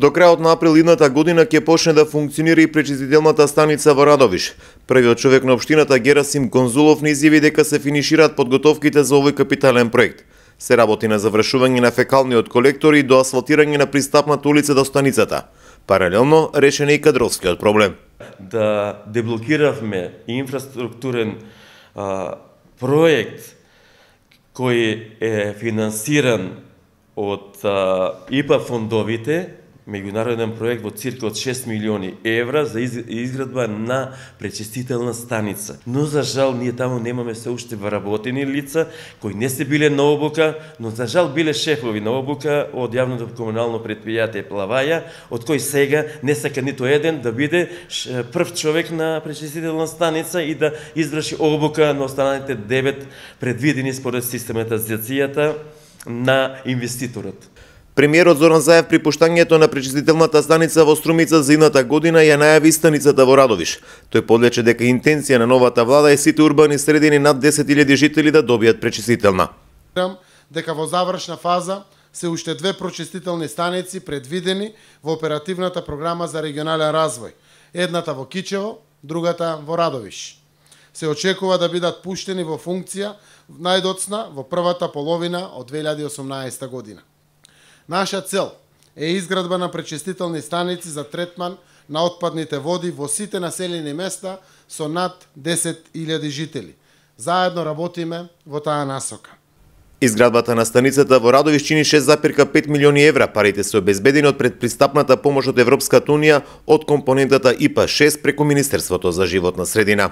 До крајот на април идната година ќе почне да функционира и пречистителната станица во Радовиш. Првиот човек на општината Герасим Конзулов не изјави дека се финишираат подготовките за овој капитален проект. Се работи на завршување на фекалниот колектор и до асфалтирање на пристапната улица до станицата. Паралелно решен е и кадровскиот проблем. Да деблокиравме инфраструктурен проект кој е финансиран од ИПА фондовите, меѓународен проект во цирка од 6 милиони евра за изградба на пречистителна станица. Но за жал ние таму немаме се уште вработени лица кои не се биле на обука, но за жал биле шефови на обука од јавното комунално предпријатие Плаваја, од кој сега не сака ниту еден да биде прв човек на пречистителна станица и да изврши обука на останалите 9 предвидени според систематизацијата на инвеститорот. Премиерот Зоран Заев при пуштањето на пречистителната станица во Струмица за идната година ја најави станицата во Радовиш. Тој подлече дека интенција на новата влада е сите урбани средини над 10.000 жители да добијат пречистителна. Дека во завршна фаза се уште 2 пречистителни станици предвидени во оперативната програма за регионален развој. Едната во Кичево, другата во Радовиш. Се очекува да бидат пуштени во функција најдоцна во првата половина од 2018 година. Наша цел е изградба на пречистителни станици за третман на отпадните води во сите населени места со над 10.000 жители. Заедно работиме во таа насока. Изградбата на станицата во Радовиш чини 6,5 милиони евра. Парите се обезбедени од предпристапната помош од Европската унија од компонентата ИПА 6 преку Министерството за животна средина.